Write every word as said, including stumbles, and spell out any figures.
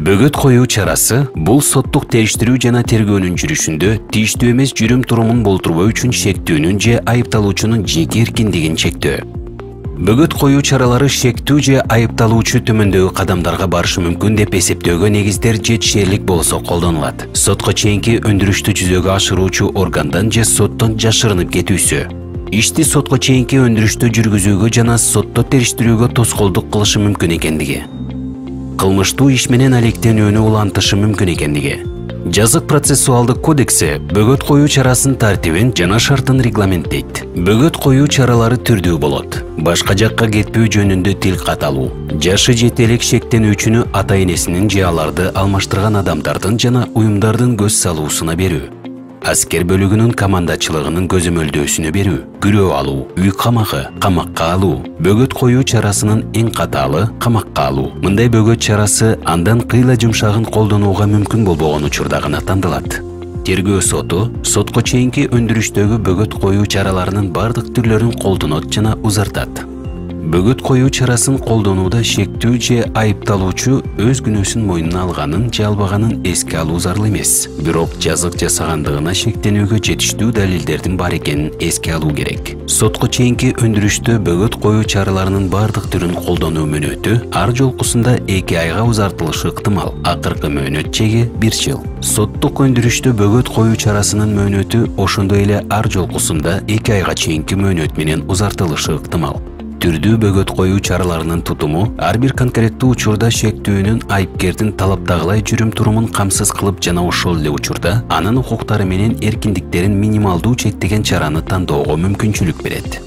Бөгөт коюу чарасы бул соттук териштирүү жана тергөөнүн жүрүшүндө тийиштүү эмес жүрүм турумун болтурбоо үчүн шектүүнүн же айыпталуучунун жеке эркиндигин чектөө. Бөгөт коюу чаралары шектүү же айыпталуучу төмөндөгү кадамдарга барышы мүмкүн деп эсептөөгө негиздер жетишерлик болсо колдонулат. Сотко чейинки өндүрүштү жүзөгө ашыруучу органдан же соттон жашырынып кетүүсү. Ишти сотко чейинки өндүрүштү жүргүзүүгө жана сотто териштирүүгө тоскоолдук кылышы мүмкүн экендиги. Кылмыштуу иш менен алектенүүнү улантышы мүмкүн экендиги. Жазык процессуалдык кодекси бөгөт коюу чарасын тартибин жана шартын регламенттейт. Бөгөт коюу чаралары түрдүү болот. Башка жакка кетпөө жөнүндө тил каталуу, жашы жете элек шектенүүчүнү ата энесинин же аларды алмаштырган адамдардын жана уюмдардын көз салуусуна берүү, аскер бөлүгүнүн командачылыгынын көзөмөлдөөсүнө берүү, күрөө алуу, үй камагы, камакка алуу. Бөгөт коюу чарасынын эң катаалы камакка алуу. Мындай бөгөт чарасы андан кыйла жумшагын колдонууга мүмкүн болбогон учурда гана тандалат. Тергөө соту сотко чейинки өндүрүштөгү бөгөт коюу чараларынын бардык түрлөрүн колдонот жана узартат. Бөгөт коюу чарасын колдонууда шектүү же айыпталуучу өз күнөөсүн мойнуна алганын же албаганын эске алуу зарыл эмес. Бирок жазык жасагандыгына шектенүүгө жетиштүү далилдердин бар экенин эске алуу керек. Сотко чейинки өндүрүштө бөгөт коюу чараларынын бардык түрүн колдонуу мөөнөтү ар жолкусунда эки айга узартылышы ыктымал. Акыркы мөөнөт чеги бир жыл. Соттук өндүрүштө бөгөт коюу чарасынын мөөнөтү ошондой эле ар жолкусунда эки айга чейинки мөөнөт менен узартылышы ыктымал. Түрдүү бөгөт коюу чараларынын тутуму ар бир конкреттүү учурда шектүүнүн айыпкердин талаптагылай жүрүм турумун камсыз кылып жана ошол эле учурда анын укуктары менен эркиндиктерин минималдуу чектеген чараны тандоого мүмкүнчүлүк берет.